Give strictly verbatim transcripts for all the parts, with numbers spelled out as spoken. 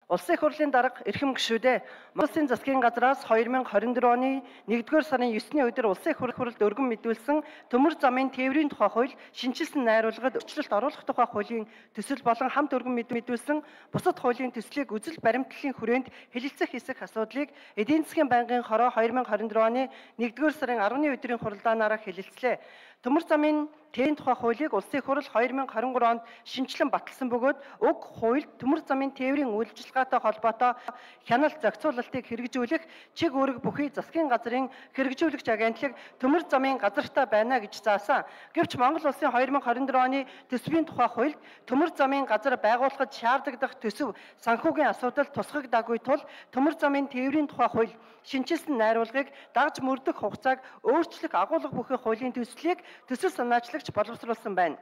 Улсын их хурлын дарга эрхэм гишүүдээ Монголын засгийн газраас хоёр мянга хорин дөрөв оны нэгдүгээр сарын есний өдөр улсын их хурлд өргөн мэдүүлсэн төмөр замын тээврийн тухай хууль шинжилсэн найруулгад өөрчлөлт оруулах тухай хуулийн төсөл болон хамт өргөн мэдүүлсэн бусад хуулийн төслийг үзэл баримтлалын хүрээнд хэлэлцэх хэсэг асуудлыг эдийн засгийн байнгын хороо хоёр мянга хорин дөрөв оны нэгдүгээр сарын арваны өдрийн хурлаанаараа хэлэлцлээ. Төмөр замын тээврийн тухай хуулийг улсын их хурл хоёр мянга хорин гурав онд шинжилэн баталсан бөгөөд уг хуульд төмөр замын тээврийн үйлчилгээтэй холбоотой хяналт зохицуулалтыг хэрэгжүүлэх чиг үүрэг бүхий засгийн газрын хэрэгжүүлэгч агентлаг төмөр замын газартай байна гэж заасан. Гэвч Монгол улсын хоёр мянга хорин дөрөв оны төсвийн тухай хуульд төмөр замын газар байгуулахад шаардлагадах төсөв санхүүгийн асуудал тусгагдаагүй тул төмөр замын тээврийн тухай хууль шинжилсэн найруулгыг дагж мөрдөх хугацааг өөрчлөх агуулга бүхий хуулийн төслийг төсөл санаачлагч боловсруулсан байна.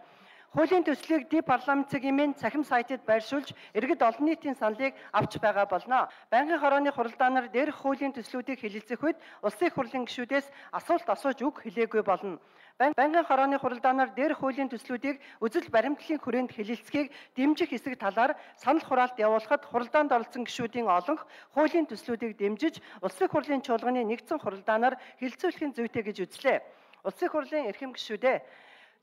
Хуулийн төслийг ди парламент цагийн цахим сайтад байршуулж иргэд олон нийтийн саналыг авч байгаа болно. Байнгын хорооны хуралдаанаар дээрх хуулийн төслүүдийг хэлэлцэх үед улсын их хурлын гишүүдээс асуулт асууж үг хэлээгүй болно. Байнгын хорооны хуралдаанаар дээрх хуулийн төслүүдийг үзэл баримтлалын хүрээнд хэлэлцэхийг дэмжих хэсэг талаар санал хураалт явуулахад хуралдаанд оролцсон гишүүдийн олонх хуулийн төслүүдийг дэмжиж улсын их хурлын чуулганы нэгдсэн хуралдаанаар хэлэлцүүлэхийн зүйтэй гэж үзлээ. Улсын их хурлын эрхэм гишүүдээ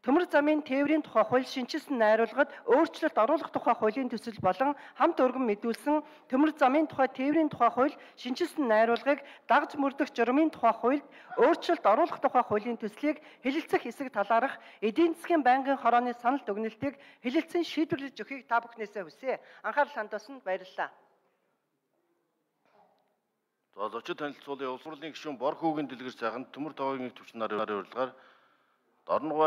төмөр замын тээврийн тухай хууль шинжилсэн найруулгад өөрчлөлт оруулах тухай хуулийн төсөл болон хамт өргөн мэдүүлсэн төмөр замын тухай тээврийн тухай хууль шинжилсэн найруулгыг дагж мөрдөх журмын тухай хуульд өөрчлөлт оруулах тухай хуулийн төслийг хэлэлцэх хэсэг талаарх эдийн засгийн байнгын хорооны санал дүгнэлтийг хэлэлцэн шийдвэрлэж өгөхийг та бүхнээсээ хүсье. Анхаарал хандуулсанд баярлалаа. За зочид танилцуулын улс хурлын гишүүн Бор хүүгийн дэлгэр сайхан төмөр тоогийн төвчнарын урилгаар Дорногов